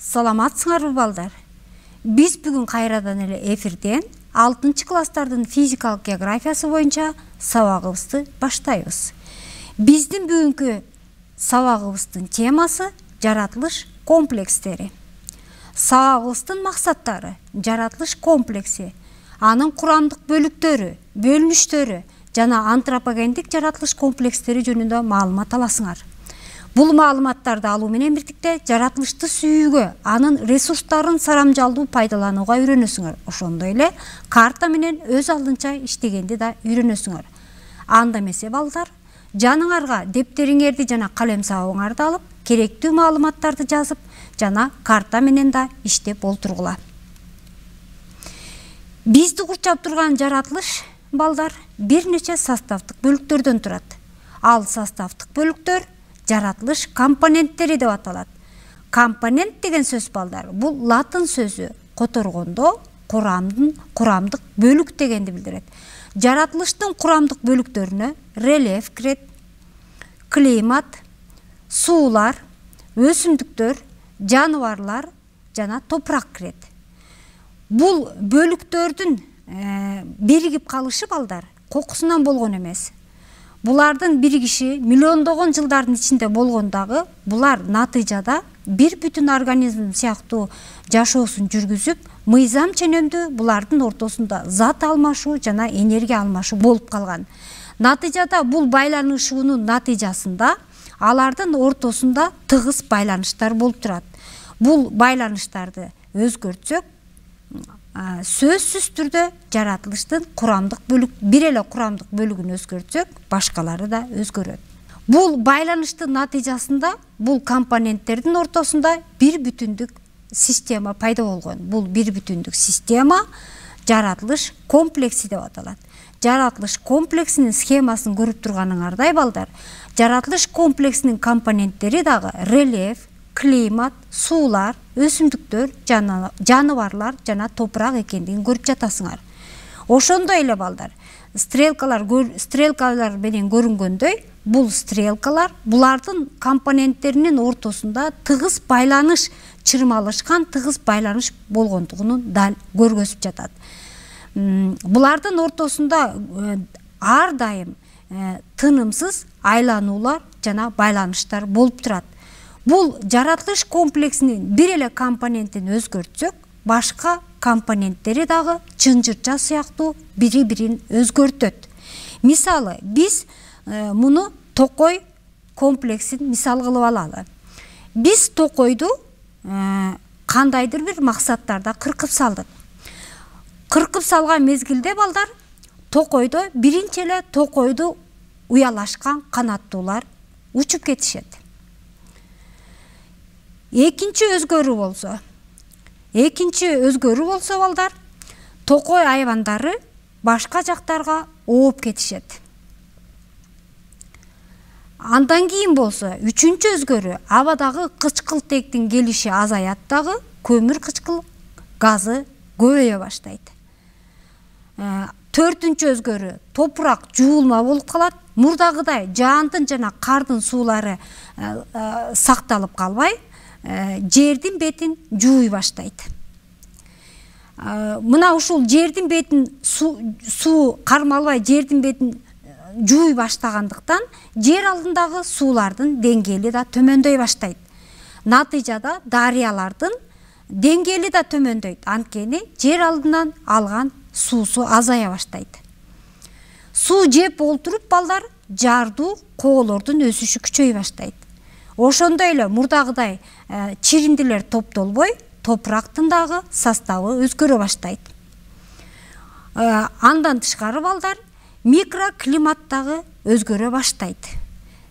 Саламатсыңарбы балдар? Биз бүгүн кайрадан эле эфирден 6-класстардын физикалык географиясы боюнча сабагыбызды баштайбыз. Биздин бүгүнкү сабагыбыздын темасы жаратылыш комплекстери. Сабагыбыздын максаттары: жаратылыш комплекси, анын курамдык бөлүктөрү, бөлүнүштөрү жана антропогендик жаратылыш комплекстери жөнүндө маалымат аласыңар. Бул маалыматтарды алуу менен бирдикте жаратылышты сүйүүгө, анын ресурстарын сарамжалдуу пайдаланууга үйрөнөсүңөр. Ошондой эле карта менен өз алдынча иштегенди да үйрөнөсүңөр. Анда эмесе балдар, жаныңарга дептериңерди жана калем сабагыңарды алып, керектүү маалыматтарды жазып жана карта менен да иштеп олтургула. Бизди курчап турган жаратылыш балдар бир нече составдык бөлүктөрдөн турат. Ал составдык бөлүктөр жаратылыш компоненттери деп аталат. Компонент деген сөз балдар, бул латын сөзү, которгондо курамдык бөлүк дегенди билдирет. Жаратылыштын курамдык бөлүктөрүнө рельеф кирет, климат, суулар, өсүмдүктөр, жаныбарлар жана топурак кирет. Бул бөлүктөрдүн биригип калышы балдар кокусунан болгон эмес. Булардын биригиши миллиондогон жылдардын ичинде болгон дагы, булар натыйжада бир бүтүн организм сыяктуу жашоосун жүргүзүп, мыйзам ченемдүү булардын ортосунда зат алмашуу жана энергия алмашуу болуп калган. Натыйжада бул байланышуунун натыйжасында алардын ортосунда тыгыз байланыштар болуп турат. Бул байланыштарды өзгөртсөк, сөзсүз түрдө жаратылыштын курамдык бөлүк, бир эле курамдык бөлүгүн өзгөртсөк, башкалары да өзгөрөт. Бул байланыштын натыйжасында бул компоненттердин ортосунда бир бүтүндүк система пайда болгон. Бул бир бүтүндүк система жаратылыш комплекси деп аталат. Жаратылыш комплексинин схемасын көрүп турганыңардай балдар, жаратылыш комплексинин компоненттери дагы рельеф, климат, суулар, өсүмдүктөр, жаныбарлар жана топурак экендигин көрүп жатасыңар. Ошондой эле балдар, стрелкалар менен көрүнгөндөй, бул стрелкалар булардын компоненттеринин ортосунда тыгыз байланыш, чырмалышкан тыгыз байланыш болгондугун дал көргөзүп жатат. Булардын ортосунда ар дайым тынымсыз айлануулар жана байланыштар болуп турат. Бул жаратылыш комплексинин бир эле компонентин өзгөртсөк, башка компоненттери дагы чынжырча сыяктуу бири-бирин өзгөртөт. Мисалы, биз муну токой комплексин мисал кылып алалы. Биз токойду кандайдыр бир максаттарда кыркып салдык. Кыркып салган мезгилде балдар, токойдо биринчи эле токойду уялашкан канаттуулар учуп кетишет. Экинчи өзгөрүү болсо балдар, токой айвандары башка жактарга ооп кетишет. Андан кийин болсо, үчүнчү өзгөрүү, абадагы кычкылтектин келиши азаят дагы, көмүр кычкыл газы көбөйө баштайт. Төртүнчү өзгөрүү, топурак жуулма болуп калат. Мурдагыдай жаандын жана кардын суулары сакталып калбай, жердин бетин жууй баштайт. Мына ушул жердин бетин суу кармалбай, жердин бетин жууй баштагандыктан жер алдындагы суулардын деңгээли да төмөндөй баштайт. Натыйжада дарыялардын деңгээли да төмөндөйт, анткени жер алдынан алган суусу азая баштайт. Суу жеп олтуруп балдар, жардуу коолордун өсүшү күчөй баштайт. Ошондой эле мурдагыдай чириндилер топтолбой, топурактын дагы составы өзгөрө баштайт. Андан тышкары балдар, микроклимат дагы өзгөрө баштайт.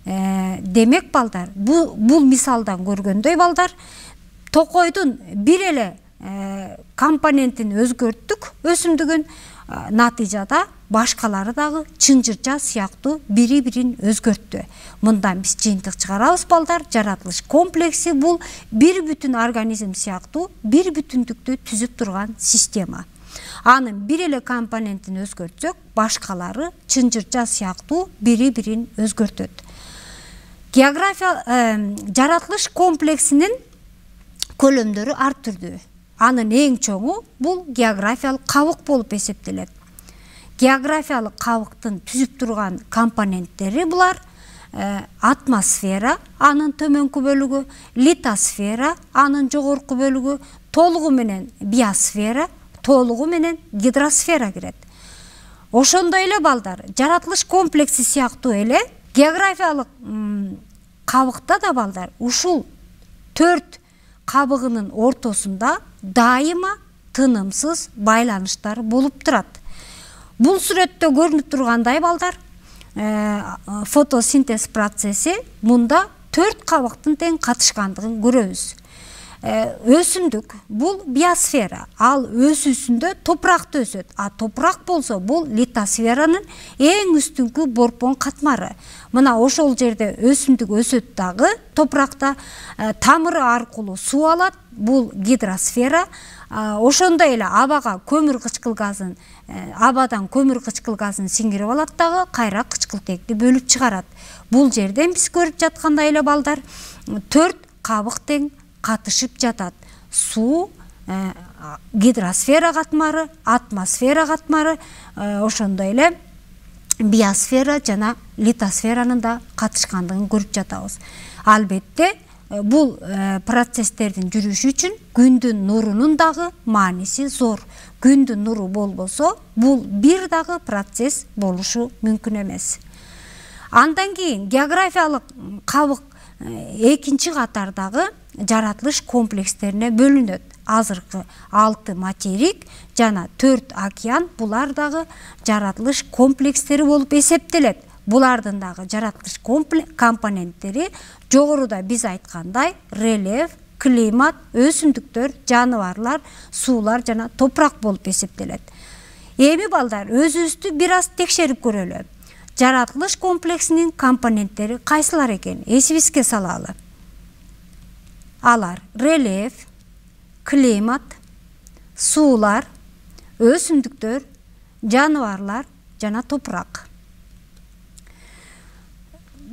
Демек балдар, бул мисалдан көргөндөй балдар, токойдун бир эле компонентин өзгөрттүк, өсүмдүгүн, натыйжада башкалары дагы чынжырча сыяктуу бири-бирин өзгөрттү. Мындан биз жыйынтык чыгарабыз балдар, жаратылыш комплекси бул бир бүтүн организм сыяктуу бир бүтүндүктү түзүп турган система. Анын бир эле компонентин өзгөртсөк, башкалары чынжырча сыяктуу бири-бирин өзгөртөт. Жаратылыш комплексинин көлөмдөрү ар түрдүү. Анын эң чоңу бул географиялык кабык болуп эсептелет. Географиялык кабыктын түзүп турган компоненттери булар: атмосфера, анын төмөнкү бөлүгү, литосфера, анын жогорку бөлүгү, толугу менен биосфера, толугу менен гидросфера кирет. Ошондой эле балдар, жаратылыш комплекси сыяктуу эле географиялык кабыкта да балдар ушул 4 кабыгынын ортосунда дайыма тынымсыз байланыштар болуп турат. Бул сүрөттө көрүнүп тургандай балдар, фотосинтез процесси мында 4 кабыктын тең катышкандыгын көрөбүз. Өсүмдүк бул биосфера, ал өсүүсүндө топуракта өсөт. Топурак болсо бул литосферанын эң үстүнкү борпон катмары. Мына ошол жерде өсүмдүк өсөт дагы топуракта, тамыры аркылуу суу алат, бул гидросфера. Ошондой эле абадан көмүр кычкыл газын сиңирип алат дагы, кайра кычкылтекти бөлүп чыгарат. Бул жерден биз көрүп жаткандай эле балдар 4 кабык тең катышып жатат. Суу, гидросфера катмары, атмосфера катмары, ошондой эле биосфера жана литосферанын да катышкандыгын көрүп жатабыз. Албетте бул процесстердин жүрүшү үчүн күндүн нурунун дагы мааниси зор. Күндүн нуру болбосо бул бир дагы процесс болушу мүмкүн эмес. Андан кийин географиялык кабык экинчи катардагы жаратылыш комплекстерине бөлүнөт. Азыркы 6 материк жана 4 океан булар дагы жаратылыш комплекстери болуп эсептелет. Булардын дагы жаратылыш компоненттери жогоруда биз айткандай рельеф, климат, өсүмдүктөр, жаныбарлар, суулар жана топурак болуп эсептелет. Эми балдар өзүбүздү бир аз текшерип көрөлү. Жаратылыш комплексинин компоненттери кайсылар экен? Эсибизге салалы. Алар рельеф, климат, суулар, өсүмдүктөр, жаныбарлар жана топурак.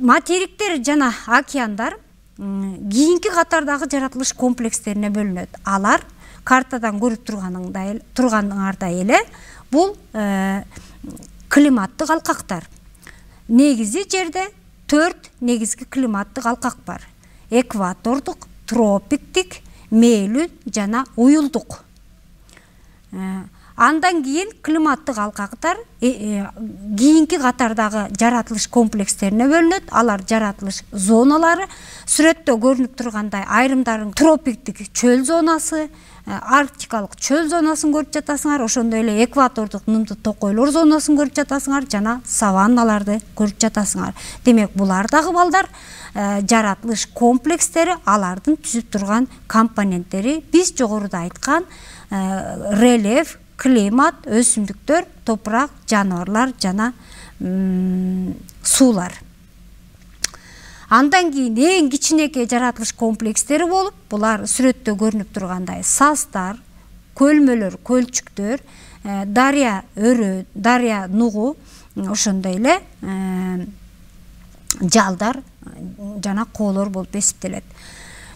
Материктер жана океандар кийинки катардагы жаратылыш комплекстерине бөлүнөт. Алар картадан көрүп турганыңардай эле бул климаттык алкактар. Негизи жерде 4 негизги климаттык алкак бар. Экватордук, тропиктик, мээлүү жана уюлдук. Андан кийин климаттык алкактар кийинки катардагы жаратылыш комплекстерине бөлүнөт. Алар жаратылыш зоналары. Сүрөттө көрүнүп тургандай айрымдарын тропиктик чөл зонасы, арктикалык чөл зонасын көрүп жатасыңар, ошондой эле экватордук нымды токойлор зонасын көрүп жатасыңар жана саванналарды көрүп жатасыңар. Демек, булар дагы балдар жаратылыш комплекстери, алардын түзүп турган компоненттери биз жогоруда айткан рельеф, климат, өсүмдүктөр, топурак, жаныбарлар жана суулар. Андан кийин эң кичинекей жаратылыш комплекстери болуп, булар сүрөттө көрүнүп тургандай саздар, көлмөлөр, көлчүктөр, дарыя өрөө, дарыя нугу, ошондой эле жалдар жана коолор болуп эсептелет.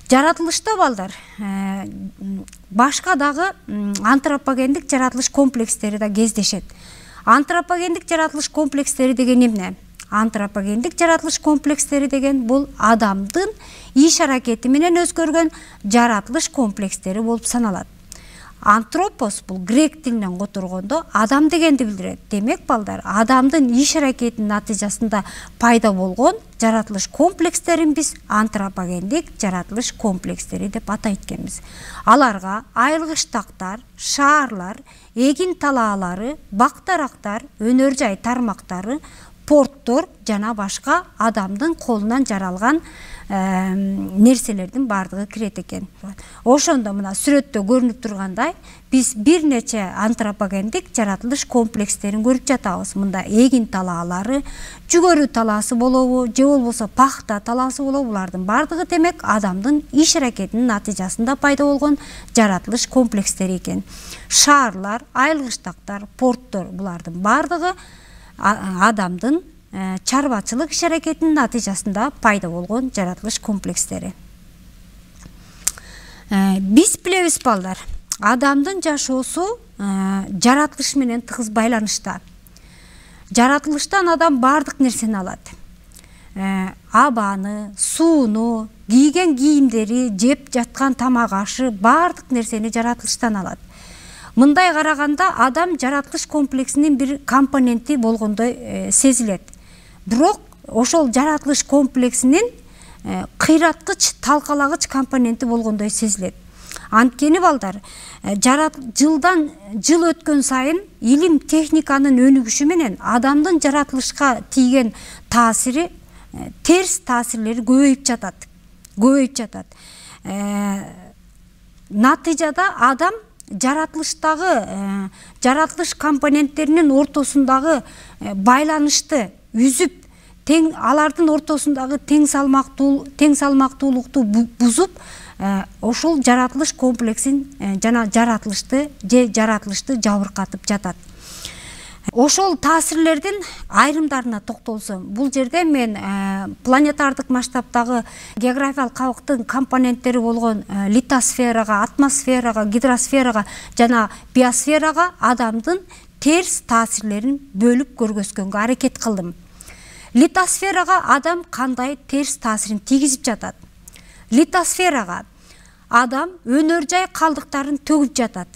Жаратылышта балдар башка дагы антропогендик жаратылыш комплекстери да кездешет. Антропогендик жаратылыш комплекстери деген эмне? Антропогендик жаратылыш комплекстери деген бул адамдын иш аракети менен өзгөргөн жаратылыш комплекстери болуп саналат. Антропос бул грек тилинен которгондо адам дегенди билдирет. Демек балдар, адамдын иш аракетинин натыйжасында пайда болгон жаратылыш комплекстерин биз антропогендик жаратылыш комплекстери деп атайт экенбиз. Аларга айылгычтактар, шаарлар, эгин талаалары, бак-дарактар, өнөр жай тармактары, порттор жана башка адамдын колунан жаралган нерселердин бардыгы кирет экен. Ошондо мына сүрөттө көрүнүп тургандай, биз бир нече антропогендик жаратылыш комплекстерин көрүп жатабыз. Мында эгин талаалары, жүгөрү талаасы болобу, же болбосо пахта талаасы болобу, булардын бардыгы демек адамдын иш аракетинин натыйжасында пайда болгон жаратылыш комплекстери экен. Шаарлар, айылгычтактар, порттор, булардын бардыгы адамдын чарбачылык иш аракетинин натыйжасында пайда болгон жаратылыш комплекстери. Биз билебиз балдар, адамдын жашоосу жаратылыш менен тыгыз байланышта. Жаратылыштан адам бардык нерсени алат. Абаны, сууну, кийген кийимдери, жеп жаткан тамак ашы бардык нерсени жаратылыштан алат. Мындай караганда адам жаратылыш комплексинин бир компоненти болгондой сезилет. Бирок ошол жаратылыш комплексинин кыйраткыч, талкалагыч компоненти болгондой сезилет. Анткени балдар, жылдан жыл өткөн сайын илим техниканын өнүгүшү менен адамдын жаратылышка тийген таасири, терс таасирлери көбөйүп жатат. Натыйжада адам жаратылыштагы жаратылыш компоненттеринин ортосундагы байланышты үзүп, алардын ортосундагы тең салмактуулукту бузуп, ошол жаратылыш комплексин жана жаратылышты жабыркатып жатат. Ошол таасирлердин айрымдарына токтолсом, бул жерде мен планетардык масштабтагы географиялык кабыктын компоненттери болгон литосферага, атмосферага, гидросферага жана биосферага адамдын терс таасирлерин бөлүп көргөзгөнгө аракет кылдым. Литосферага адам кандай терс таасирин тийгизип жатат? Литосферага адам өнөр жай калдыктарын төгүп жатат.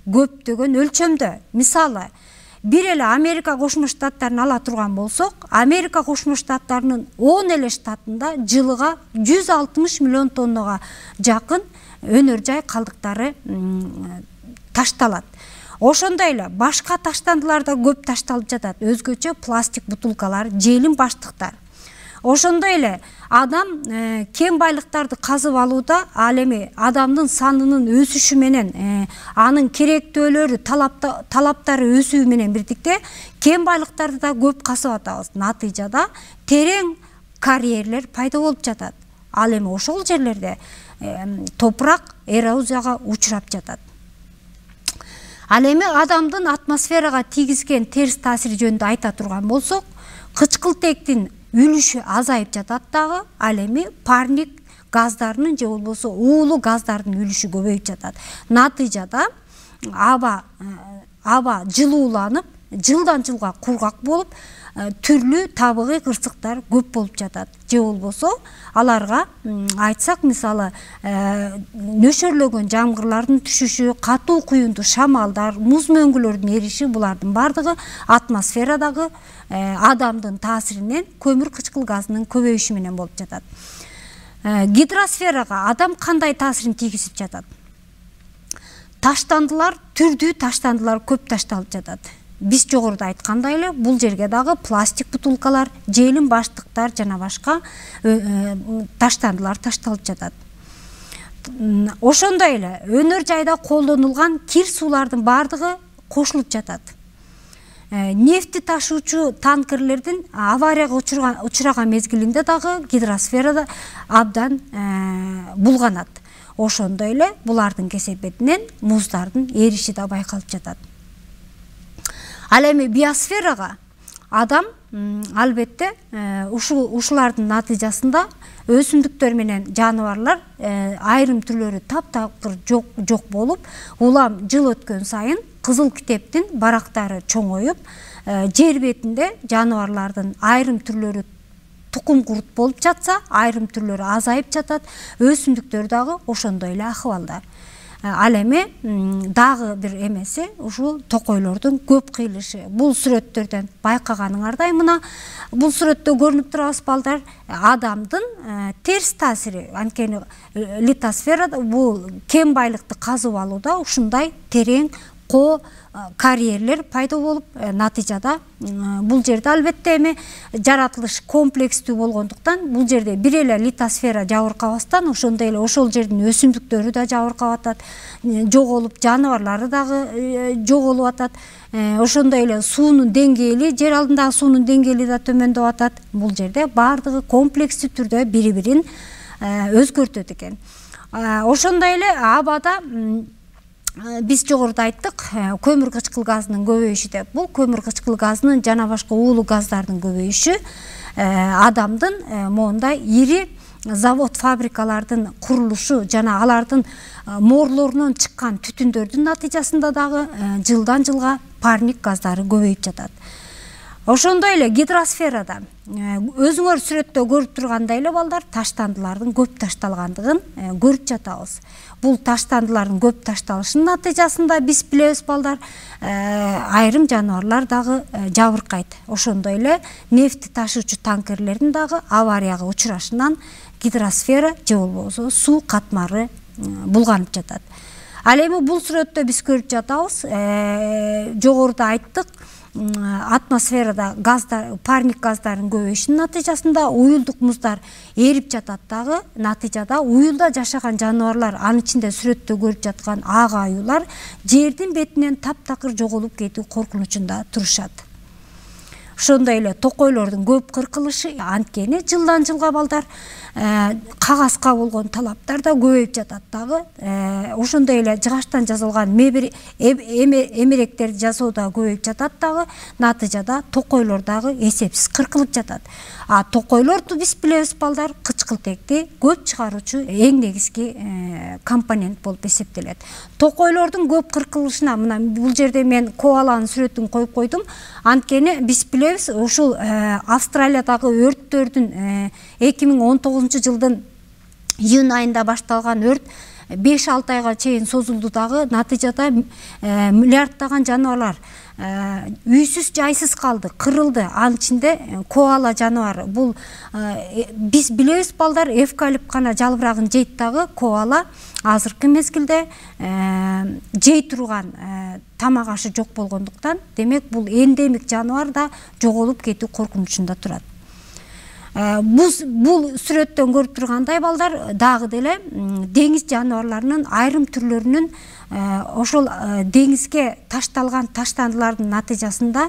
Көптөгөн өлчөмдө. Мисалы, бир эле Америка Кошмо Штаттарын ала турган болсок, Америка Кошмо Штаттарынын 10 эле штатында жылыга 160 миллион тоннага жакын өнөр жай калдыктары ташталат. Ошондой эле башка таштандылар да көп ташталып жатат. Өзгөчө пластик бутулкалар, желим баштыктар. Ошондой эле адам кен байлыктарды казып алууда, ал эми адамдын санынын өсүшү менен анын керектөөлөрү, талаптары өсүү менен бирдикте кен байлыктарды да көп казып атабыз. Натыйжада терең карьерлер пайда болуп жатат. Ал эми ошол жерлерде топурак эрозияга учурап жатат. Ал эми адамдын атмосферага тийгизген терс таасири жөнүндө айта турган болсок, кычкылтектин үлүшү азайып жатат дагы, ал эми парник газдарынын же болбосо уулуу газдардын үлүшү көбөйүп жатат. Натыйжада аба жылууланып, жылдан жылга кургак болуп, түрлүү табигый кырсыктар көп болуп жатат. Же болбосо аларга айтсак, мисалы, нөшөрлөгөн жамгырлардын түшүшү, катуу куюнду шамалдар, муз мөңгүлөрдүн эриши, булардын бардыгы атмосферадагы адамдын таасиринен көмүр кычкыл газынын көбөйүшү менен болуп жатат. Гидросферага адам кандай таасирин тийгизип жатат? Таштандылар, түрдүү таштандылар көп ташталып жатат. Биз жогоруда айткандай эле, бул жерге дагы пластик бутулкалар, желим баштыктар жана башка таштандылар ташталып жатат. Ошондой эле өнөр жайда колдонулган кир суулардын бардыгы кошулуп жатат. Нефти ташуучу танкерлердин аварияга учураган мезгилинде дагы гидросферада абдан булганат. Ошондой эле булардын кесепетинен муздардын эриши да байкалып жатат. Ал эми биосферага адам албетте ушулардын натыйжасында өсүмдүктөр менен жаныбарлар айрым түрлөрү таптакыр жок болуп, улам жыл өткөн сайын Кызыл китептин барактары чоңоюп, жер бетинде жаныбарлардын айрым түрлөрү тукум курут болуп жатса, айрым түрлөрү азайып жатат, өсүмдүктөр дагы ошондой эле акыбалда. Ал эми дагы бир эмеси ушул токойлордун көп кыйылышы. Бул сүрөттөрдөн байкаганыңардай мына бул сүрөттө көрүнүп турабыз балдар, адамдын терс таасири. Анткени литосферада бул кен байлыкты казып алууда ушундай терең карьерлер пайда болуп, натыйжада бул жерде албетте эми жаратылыш комплекстүү болгондуктан бул жерде бир эле литосфера жабыркабастан, ошондой эле ошол жердин өсүмдүктөрү да жабыркап атат, жоголуп, жаныбарлары дагы жоголуп атат. Ошондой эле суунун деңгээли, жер алдындагы суунун деңгээли да төмөндөп атат. Бул жерде бардыгы комплекстүү түрдө бири-бирин өзгөртөт экен. Ошондой эле абада биз жогоруда айттык, көмүр кычкыл газынын көбөйүшү деп. Бул көмүр кычкыл газынын жана башка уулуу газдардын көбөйүшү адамдын моундай ири завод фабрикалардын курулушу жана алардын mooрлорунан чыккан түтүндөрдүн натыйжасында дагы жылдан жылга парник газдары көбөйүп жатат. Ошондой эле гидросферада өзүңөр сүрөттө көрүп тургандай эле балдар, таштандылардын көп ташталгандыгын көрүп жатабыз. Бул таштандылардын көп ташталышынын натыйжасында биз билебиз балдар, айрым жаныбарлар дагы жабыркайт. Ошондой эле нефти ташуучу танкерлердин дагы аварияга учурашынан гидросфера же болбосо суу катмары булганып жатат. Ал эми бул сүрөттө биз көрүп жатабыз, жогоруда айттык, атмосферада газдар, парник газдарын көбөйүшүнүн натыйжасында уюлдук муздар эрип жатат дагы. Натыйжада уюлда жашаган жаныбарлар, анын ичинде сүрөттө көрүп жаткан ак аюулар жердин бетинен таптакыр жоголуп кетүү коркунучунда турушат. Ошондой эле токойлордун көп кыркылышы, анткени жылдан жылга балдар кагазга болгон талаптар да көбөйүп жатат дагы. Ошондой эле жыгачтан жасалган эмеректерди жасоо да көбөйүп жатат дагы. Натыйжада токойлор дагы эсепсиз кыркылып жатат. Токойлорду биз билебиз балдар, кычкылтекти көп чыгаруучу эң негизги компонент болуп эсептелет. Токойлордун көп кыркылышына мына бул жерде мен коаланын сүрөтүн коюп койдум. Анткени биз билебиз, ушул Австралиядагы өрттөрдүн 2019 жылдын июнь айында башталган өрт 5-6 айга чейин созулду дагы. Натыйжада миллиарддаган жаныбарлар үйсүз жайсыз калды, кырылды. Анын ичинде коала жаныбары. Бул биз билебиз балдар, эвкалипт гана жалбырагын жейт дагы. Коала азыркы мезгилде жей турган тамак ашы жок болгондуктан, демек бул эндемик жаныбар да жоголуп кетүү коркунучунда турат. Бул сүрөттөн көрүп тургандай балдар, дагы деле деңиз жаныбарларынын айрым түрлөрүнүн ошол деңизге ташталган таштандылардын натыйжасында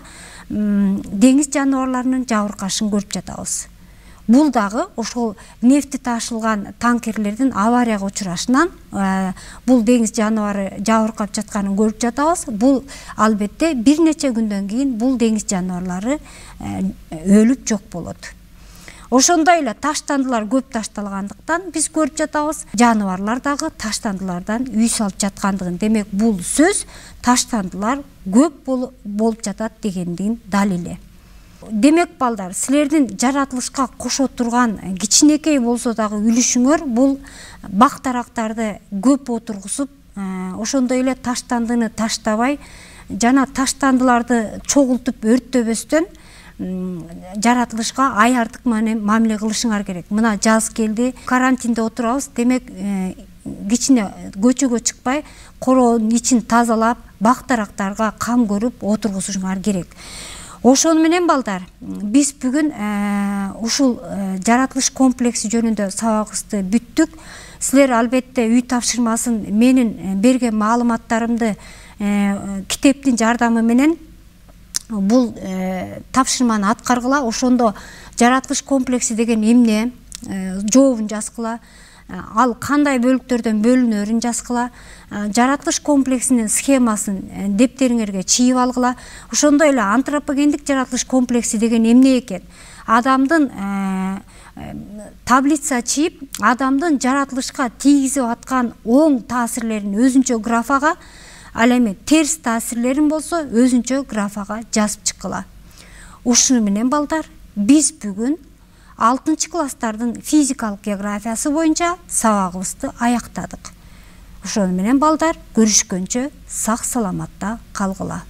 деңиз жаныбарларынын жабыркашын көрүп жатабыз. Бул дагы ошол нефти ташылган танкерлердин аварияга учурашынан бул деңиз жаныбары жабыркап жатканын көрүп жатабыз. Бул албетте бир нече күндөн кийин бул деңиз жаныбарлары өлүп жок болот. Ошондой эле таштандылар көп ташталгандыктан биз көрүп жатабыз, жаныбарлар дагы таштандылардан үй салып жаткандыгын. Демек бул сөз таштандылар көп болуп жатат дегендин далили. Демек балдар, силердин жаратылышка кошо турган кичинекей болсо дагы үлүшүңөр бул бак-дарактарды көп отургузуп, ошондой эле таштандыны таштабай жана таштандыларды чогултуп өрттөбөстөн жаратылышка аярдык мамиле кылышыңар керек. Мына жаз келди, карантинде отурабыз, демек кичине көчөгө чыкпай, короонун ичин тазалап, бак-дарактарга кам көрүп отургузушуңар керек. Ошону менен балдар, биз бүгүн ушул жаратылыш комплекси жөнүндө сабагыбызды бүттүк. Силер албетте үй тапшырмасын менин берген маалыматтарымды китептин жардамы менен бул тапшырманы аткаргыла. Ошондо жаратылыш комплекси деген эмне, жообун жазгыла, ал кандай бөлүктөрдөн бөлүнөрүн жазгыла, жаратылыш комплексинин схемасын дептериңерге чийип алгыла. Ошондой эле антропогендик жаратылыш комплекси деген эмне экен? Адамдын таблица чийип, адамдын жаратылышка тийгизип аткан оң таасирлерин өзүнчө графага, ал эми терс таасирлерин болсо өзүнчө графага жазып чыккыла. Ушуну менен балдар, биз бүгүн 6-класстардын физикалык географиясы боюнча сабагыбызды аяктадык. Ошону менен балдар, көрүшкөнчө сак саламатта калгыла.